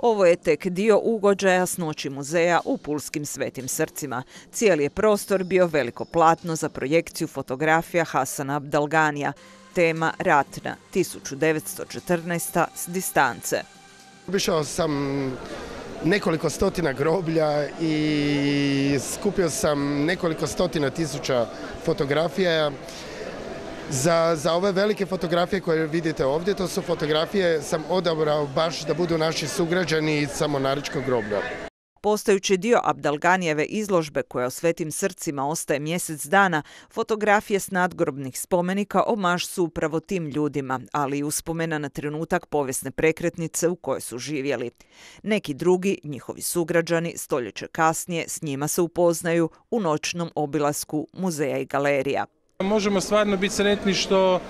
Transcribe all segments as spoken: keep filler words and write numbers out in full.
Ovo je tek dio ugođaja s noći muzeja u pulskim Svetim Srcima. Cijeli je prostor bio veliko platno za projekciju fotografija Hasana Abdalganija. Tema ratna, tisuću devetsto četrnaesta. s distance. Obišao sam nekoliko stotina groblja i skupio sam nekoliko stotina tisuća fotografija. Za, za ove velike fotografije koje vidite ovdje, to su fotografije sam odabrao baš da budu naši sugrađani iz Samornaričkog groblja. Postajući dio Abdalganijeve izložbe koja u Svetim Srcima ostaje mjesec dana, fotografije s nadgrobnih spomenika omaž su upravo tim ljudima, ali i uspomena na trenutak povijesne prekretnice u kojoj su živjeli. Neki drugi, njihovi sugrađani, stoljeće kasnije s njima se upoznaju u noćnom obilasku muzeja i galerija. Možemo stvarno biti sretni što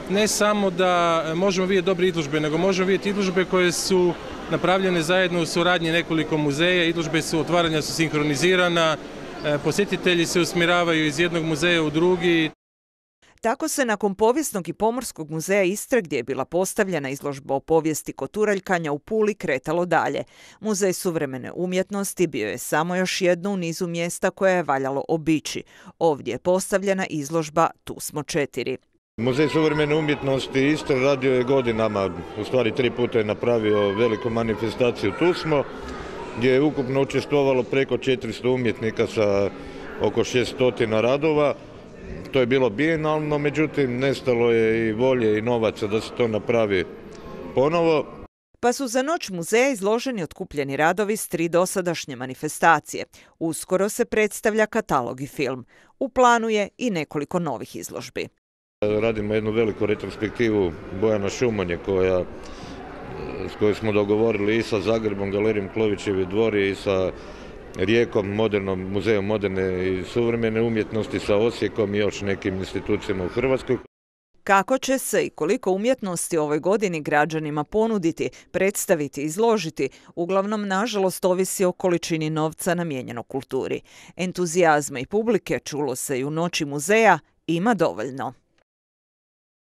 ne samo da možemo vidjeti dobre izložbe, nego možemo vidjeti izložbe koje su napravljene zajedno u suradnji nekoliko muzeja. Izložbe su, otvaranja su sinkronizirana, posjetitelji se usmjeravaju iz jednog muzeja u drugi. Tako se nakon Povijesnog i pomorskog muzeja Istre, gdje je bila postavljena izložba o povijesti koturaljkanja u Puli, kretalo dalje. Muzej suvremene umjetnosti bio je samo još jedno u nizu mjesta koje je valjalo obići. Ovdje je postavljena izložba Tu smo četiri. Muzej suvremene umjetnosti Istre radio je godinama, u stvari tri puta je napravio veliku manifestaciju Tu smo, gdje je ukupno učestvovalo preko četiristo umjetnika sa oko šesto radova. To je bilo bijenalno, međutim nestalo je i volje i novaca da se to napravi ponovo. Pa su za noć muzeja izloženi otkupljeni radovi s tri dosadašnje manifestacije. Uskoro se predstavlja katalog i film. U planu je i nekoliko novih izložbi. Radimo jednu veliku retrospektivu Bojana Šumonje koja, s kojoj smo dogovorili i sa Zagrebom, Galerijom Klovićevi dvori i sa Rijekom, modernom, muzejom moderne i suvremene umjetnosti, sa Osijekom i još nekim institucijama u Hrvatskoj. Kako će se i koliko umjetnosti ovoj godini građanima ponuditi, predstaviti, izložiti, uglavnom nažalost ovisi o količini novca namijenjeno kulturi. Entuzijazma i publike, čulo se i u noći muzeja, ima dovoljno.